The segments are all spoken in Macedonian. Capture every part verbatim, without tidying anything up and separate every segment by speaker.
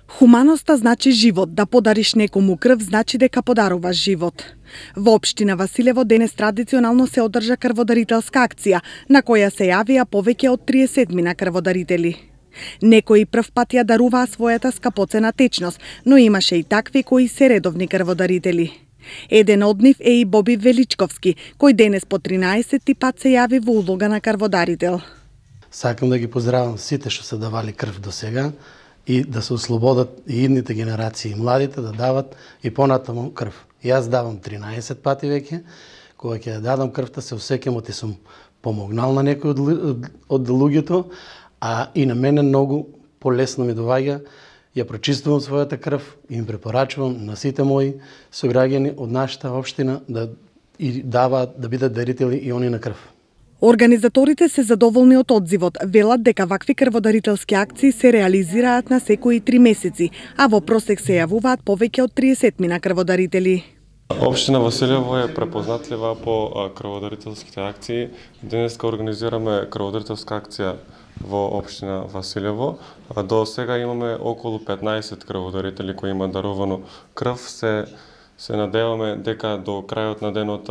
Speaker 1: Хуманоста значи живот, да подариш некому крв значи дека подаруваш живот. Во општина Василево денес традиционално се одржа крводарителска акција, на која се јавија повеќе од триесет мина крводарители. Некои прв пат ја даруваа својата скапоцена течност, но имаше и такви кои се редовни крводарители. Еден од нив е и Боби Величковски, кој денес по тринаесети пат се јави во улога на крводарител.
Speaker 2: Сакам да ги поздравам сите што се давали крв до сега и да се ослободат и идните генерации, младите да дават и понатаму крв. Јас давам тринаесет пати веќе, кога ќе ја дадам крвта се осеќам оти сум помогнал на некој од, од луѓето, а и на мене многу полесно ми доваѓа. Ја прочистувам својата крв и им препорачувам на сите мои сограѓани од нашата општина да и даваат да бидат дарители и они на крв.
Speaker 1: Организаторите се задоволни од одзивот, велат дека вакви крводарителски акции се реализираат на секои три месеци, а во просек се јавуваат повеќе од триесет мина крводарители.
Speaker 3: Општина Василево е препознатлива по крводарителските акции. Денеска организираме крводарителска акција во општина Василево. До сега имаме околу петнаесет крводарители кои имаат дарувано крв. Се се надеваме дека до крајот на денот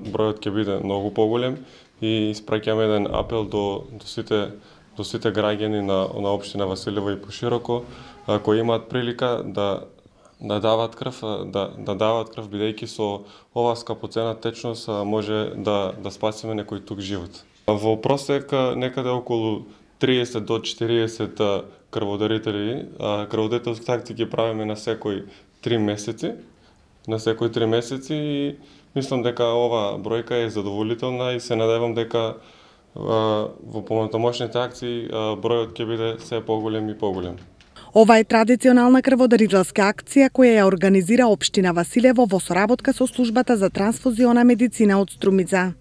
Speaker 3: бројот ќе биде многу поголем и испраќаме еден апел до до сите до сите граѓани на на општина Василево и пошироко кои имаат прилика да да дават крв, да да дават крв бидејќи со оваа скапоцена течност може да да спасиме некој тук живот. Во просек некаде околу триесет до четириесет крводарители, крводарителски акции ги правиме на секои три месеци, на секои три месеци и мислам дека ова бројка е задоволителна и се надевам дека во понатамошните акции бројот ќе биде се поголем и поголем.
Speaker 1: Ова е традиционална крводарителска акција која ја организира општина Василево во соработка со службата за трансфузиона медицина од Струмица.